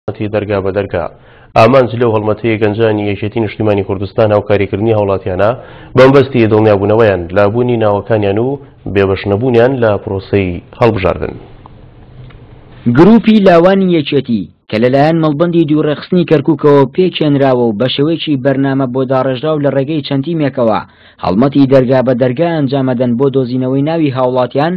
هەڵمەتی دەرگا بە دەرگا. ئامانج لەو هەڵمەتەی گەنجانی یەکێتی نیشتیمانی کوردستان هاوکاریکردنی هاوڵاتیانە بەمەبەستی دڵنیابوونەوەیان لە بوونی ناوەکانیان و بێبەش نەبوونیان لە پرۆسەی هەڵبژاردن. گروپی لاوانی یەکێتی، کە لەلایەن مەڵبەندی دوو ڕێکخستنی کەرکوکەوە پێکهێنراوە و بەشێوەیەکی بەرنامە بۆ داڕێژراو لە ڕێگەی چەند تیمێکەوە هەڵمەتی دەرگا بە دەرگا ئەنجامەدەن بۆ دۆزینەوەی ناوی هاوڵاتیان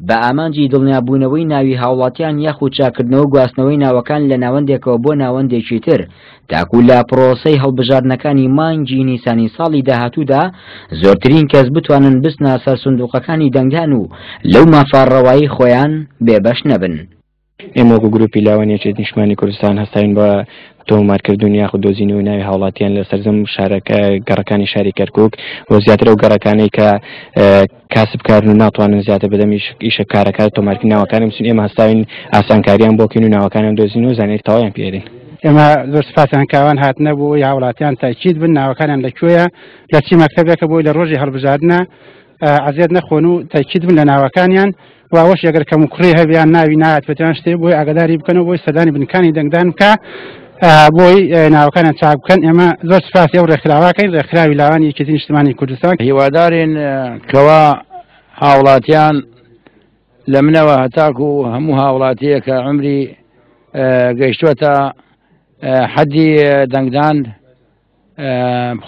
بە ئامانجی دڵنیابوونەوەی ناوی هاوڵاتیان یاخود چاککردنەوە و گواستنەوەی ناوەکان لە ناوەندێکەوە بۆ ناوەندێکی تر تاکو لە پڕۆسەی هەڵبژاردنەکانی مانگی نیسانی ساڵی داهاتوودا زۆرترین کەس بتوانن بچنە سەر سندوقەکانی دەنگدان و لەو مافە ڕەوایەی خۆیان بێبەش نەبن. ئێمە وەکو گروپی لاوانی یەکێتی نیشتمانی کوردستان هەستاوین بە تۆمارکردن یاخود دۆزینەوەی ناوی هاوڵاتیان لە سەرجەم شارەکە گەڕەکانی شاری کەرکک و زیاتر ئەو گەڕەکانەی کە کاسبکارن و ناتوانن زیاتر بەدەم ئیشە کارەکە تۆمارکردنی ناوەکانیان بچن ئێمە هەستاوین ئاسانکاریان بۆ بکەین و ناوەکانیان دۆزین و زانیاری تەواویان پێدەین. ئێمە زۆر سپاسیان کاوان هاتنە بۆ ئەوەی هاوڵاتیان تاکید بن ناوەکانیان لە کوێیە لە چی مەکتەبێکە بۆی لە ڕۆژی هەڵبژاردنە ئەزیەت نەخۆن و تاکید بن لە ناوەکانیان و ئەوەش ئەگەر کەموکوڕی هەبێ یان ناوی نهاتبێت یان شتێ بۆی ئاگاداری بکەن و بۆی سەردانی بنکانی دەنگدان بکە بۆی ناوەکانیان چاک بکەن. ئێمە زۆر سپاسی ئەو ڕێکخراوەکەین، ڕێکخراوی لاوانی یەکێتی نیشتمانی کوردستان. هیوادارین کەوا هاوڵاتیان لە منەوە هەتاکو هەموو هاوڵاتیەک کە عمری گەیشتووەتە حەدی دەنگدان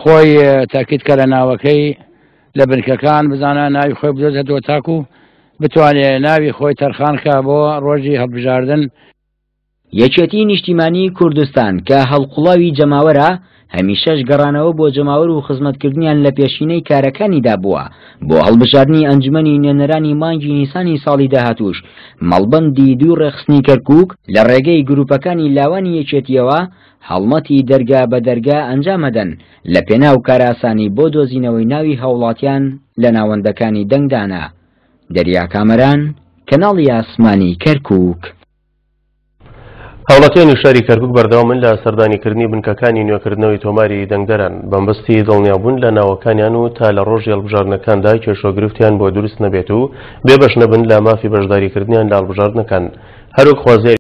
خۆی تاکید کە لە ناوەکەی لە بنکەکان بزانە ناوی خۆی بدۆزێتەوە تاکو بتوانێ ناوی خۆی تەرخان کا بۆ ڕۆژی هەڵبژاردن. یەکێتی نیشتیمانی کوردستان کە هەڵقوڵاوی جەماوەرە، هەمیشەش گەڕانەوە بۆ جەماوەر و خزمەتکردنیان لە پێشینەی کارەکانیدا بووە، بۆ هەڵبژاردنی ئەنجومەنی نوێنەرانی مانگی نیسانی ساڵی داهاتووش مەڵبەندی دوو ڕێکخستنی کەرکوک لە ڕێگەی گروپەکانی لاوانی یەکێتییەوە هەڵمەتی دەرگا بە دەرگا ئەنجامەدەن لە پێناو کارئاسانی بۆ دۆزینەوەی ناوی هاوڵاتیان لە ناوەندەکانی دەنگدانە. دەریا کامەران، کەناڵی ئاسمانی کەرکوک. هاوڵاتیانی شاری کەرکوک بەردەوامن لە سەردانیکردنی بنکەکانی نوێکردنەوەی تۆماری دەنگدەران بەمبەستی دڵنیابوون لە ناوەکانیان و تا لە ڕۆژی هەڵبژاردنەکاندا کێشە و گرفتیان بۆ دروست نەبێت و بێبەش نەبن لە مافی بەشداریکردنیان لە هەڵبژاردنەکان هەروەک خوازیاری.